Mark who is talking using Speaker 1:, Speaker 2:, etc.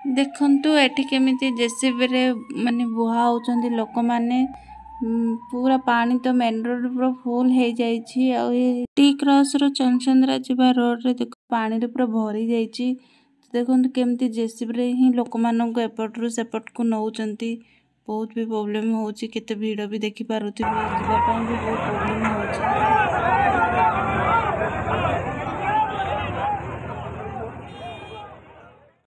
Speaker 1: ଦେଖନ୍ତୁ ଏଠି କେମିତି ଜେସିବିରେ ମାନେ ବୁହା ହେଉଛନ୍ତି ଲୋକମାନେ। ପୁରା ପାଣି ତ ମେନ୍ ରୋଡ଼ ପୁରା ଫୁଲ୍ ହେଇଯାଇଛି। ଆଉ ଏ ଟି କ୍ରସ୍ରୁ ଚନ୍ଦଚନ୍ଦ୍ରା ଯିବା ରୋଡ଼ରେ ଦେଖ, ପାଣିରେ ପୁରା ଭରି ଯାଇଛି। ଦେଖନ୍ତୁ କେମିତି ଜେସିବିରେ ହିଁ ଲୋକମାନଙ୍କୁ ଏପଟରୁ ସେପଟକୁ ନେଉଛନ୍ତି। ବହୁତ ବି ପ୍ରୋବ୍ଲେମ୍ ହେଉଛି, କେତେ ଭିଡ଼ ବି ଦେଖିପାରୁଥିବେ, ଯିବା ପାଇଁ ବି ବହୁତ ପ୍ରୋବ୍ଲେମ୍ ହେଉଛି।